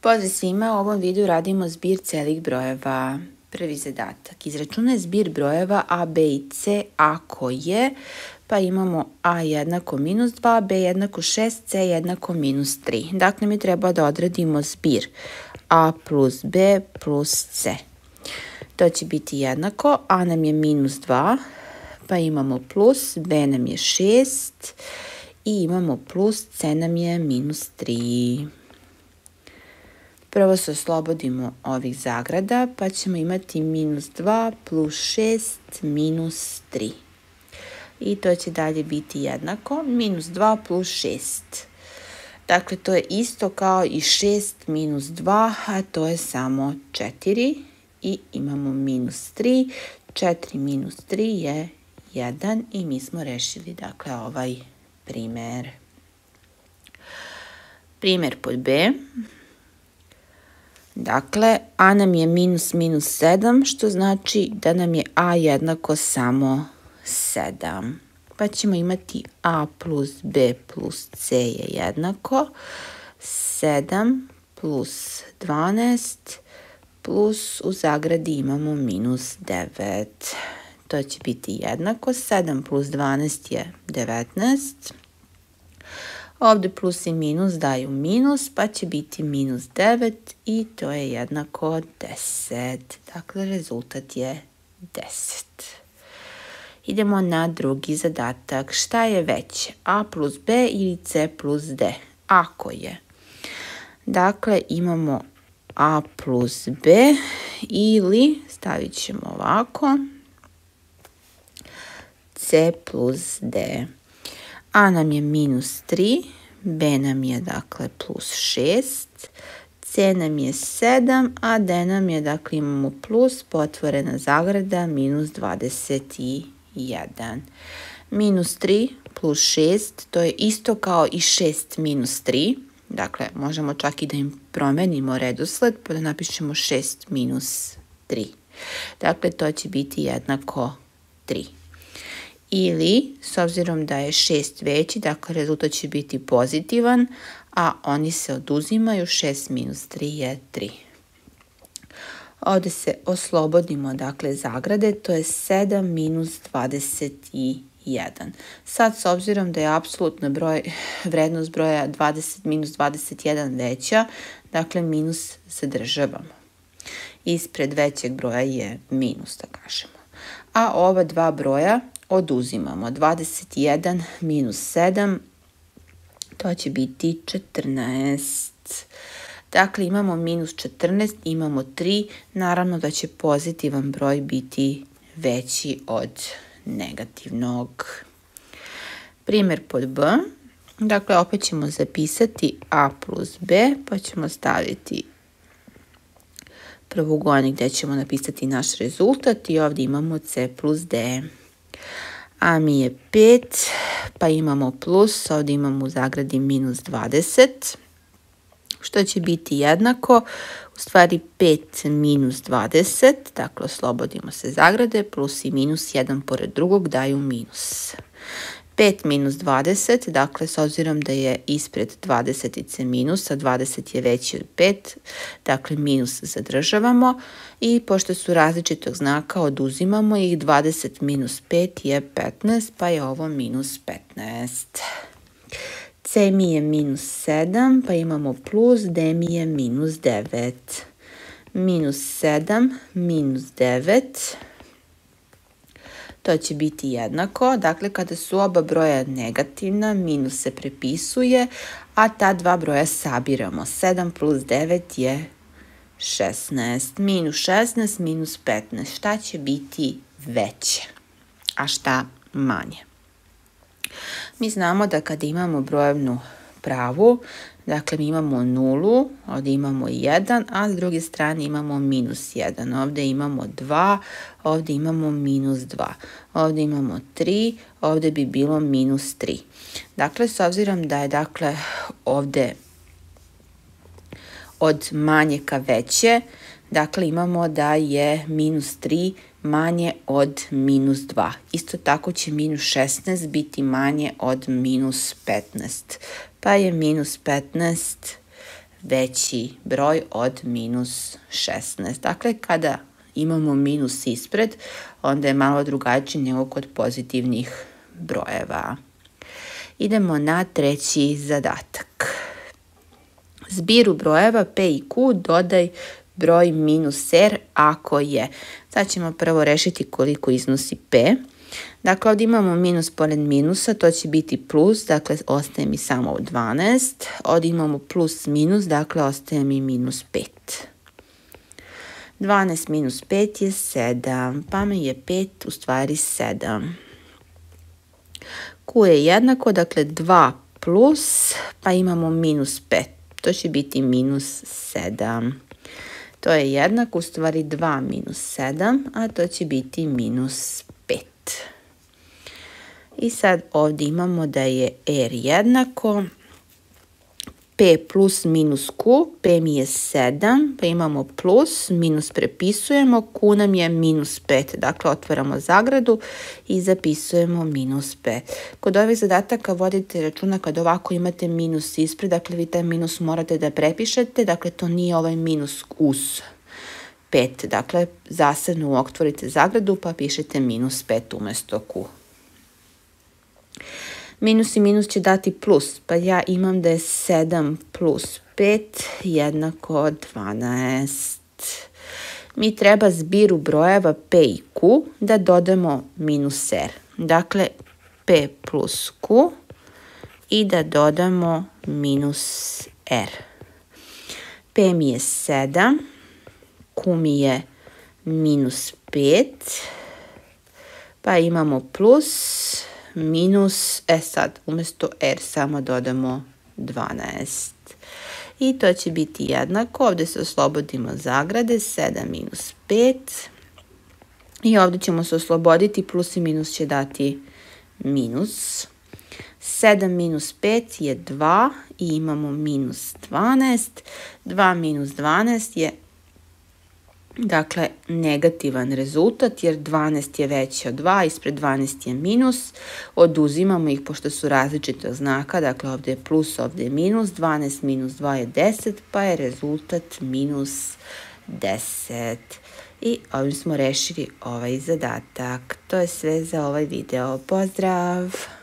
Pozdrav svima, u ovom videu radimo zbir celih brojeva. Prvi zadatak. Izračunaj zbir brojeva a, b i c ako je, pa imamo a jednako minus 2, b jednako 6, c jednako minus 3. Dakle, mi treba da odradimo zbir a plus b plus c. To će biti jednako, a nam je minus 2, pa imamo plus, b nam je 6 i imamo plus, c nam je minus 3. Prvo se oslobodimo ovih zagrada, pa ćemo imati minus 2 plus 6 minus 3. I to će dalje biti jednako, minus 2 plus 6. Dakle, to je isto kao i 6 minus 2, a to je samo 4. I imamo minus 3, 4 minus 3 je 1 i mi smo rešili, dakle, ovaj primer. Primer pod b. Dakle, a nam je minus minus 7, što znači da nam je a jednako samo 7. Pa ćemo imati a plus b plus c je jednako 7 plus 12 plus u zagradi imamo minus 9. To će biti jednako, 7 plus 12 je 19. Ovdje plus i minus daju minus, pa će biti minus 9 i to je jednako 10. Dakle, rezultat je 10. Idemo na drugi zadatak. Šta je veće? A plus b ili c plus d? Ako je. Dakle, imamo a plus b ili, stavit ćemo ovako, c plus d. A nam je minus 3, b nam je dakle plus 6, c nam je 7, a d nam je, dakle imamo plus, potvorena zagrada, minus 21. Minus 3 plus 6, to je isto kao i 6 minus 3, dakle možemo čak i da im promenimo redosled, pa da napišemo 6 minus 3. Dakle, to će biti jednako 3. Ili, s obzirom da je 6 veći, dakle rezultat će biti pozitivan, a oni se oduzimaju, 6 minus 3 je 3. Ovdje se oslobodimo, dakle, zagrade, to je 7 minus 21. Sad, s obzirom da je apsolutna vrednost broja 20 minus 21 veća, dakle, minus zadržavamo. Ispred većeg broja je minus, da kažemo. A ova dva broja oduzimamo. 21 minus 7, to će biti 14. Dakle, imamo minus 14, imamo 3. Naravno da će pozitivan broj biti veći od negativnog. Primer pod b. Dakle, opet ćemo zapisati a plus b, pa ćemo staviti prvougojnik gdje ćemo napisati naš rezultat i ovdje imamo c plus d. A mi je 5, pa imamo plus, ovdje imamo u zagradi minus 20, što će biti jednako, u stvari 5 minus 20, dakle oslobodimo se zagrade, plus i minus, jedan pored drugog daju minus. 5 minus 20, dakle s obzirom da je ispred 20 minus, a 20 je veći od 5, dakle minus zadržavamo i pošto su različitog znaka oduzimamo ih, 20 minus 5 je 15, pa je ovo minus 15. C mi je minus 7, pa imamo plus, D mi je minus 9. Minus 7 minus 9. To će biti jednako, dakle kada su oba broja negativna, minus se prepisuje, a ta dva broja sabiramo. 7 plus 9 je 16, minus 16, minus 15. Šta će biti veće, a šta manje? Mi znamo da kada imamo brojevnu pravu, dakle mi imamo nulu, ovdje imamo 1, a s druge strane imamo minus 1. Ovdje imamo 2, ovdje imamo minus 2. Ovdje imamo 3, ovdje bi bilo minus 3. Dakle, s obzirom da je dakle ovdje od manje ka veće, dakle imamo da je minus 3 manje od minus 2. Isto tako će minus 16 biti manje od minus 15. Pa je minus 15 veći broj od minus 16. Dakle, kada imamo minus ispred, onda je malo drugačije nego kod pozitivnih brojeva. Idemo na treći zadatak. Zbiru brojeva P i Q dodaj broj minus R ako je. Sad ćemo prvo rešiti koliko iznosi P. Dakle, ovdje imamo minus pored minusa, to će biti plus, dakle ostaje mi samo 12. Ovdje imamo plus minus, dakle ostaje mi minus 5. 12 minus 5 je 7, pa mi je 5 u stvari 7. Q je jednako, dakle 2 plus, pa imamo minus 5. To će biti minus 7. To je jednako, u stvari 2 minus 7, a to će biti minus 5. I sad ovdje imamo da je R jednako P plus minus Q, P mi je 7, pa imamo plus, minus prepisujemo, Q nam je minus 5, dakle otvaramo zagradu i zapisujemo minus 5. Kod ovih zadataka vodite računa kad ovako imate minus ispred, dakle vi taj minus morate da prepišete, dakle to nije ovaj minus uz 5, dakle zasebno otvorite zagradu pa pišete minus 5 umjesto Q. Minus i minus će dati plus, pa ja imam da je 7 plus 5 jednako 12. Mi treba zbiru brojeva P i Q da dodamo minus R. Dakle, P plus Q i da dodamo minus R. P mi je 7, Q mi je minus 5, pa imamo plus, minus, sad umjesto R samo dodamo 12. I to će biti jednako, ovdje se oslobodimo zagrade, 7 minus 5. I ovdje ćemo se osloboditi, plus i minus će dati minus. 7 minus 5 je 2 i imamo minus 12. 2 minus 12 je dakle negativan rezultat jer 12 je veće od 2, ispred 12 je minus, oduzimamo ih pošto su različitog znaka, dakle ovdje je plus, ovdje je minus, 12 minus 2 je 10, pa je rezultat minus 10. I ovdje smo rešili ovaj zadatak. To je sve za ovaj video. Pozdrav!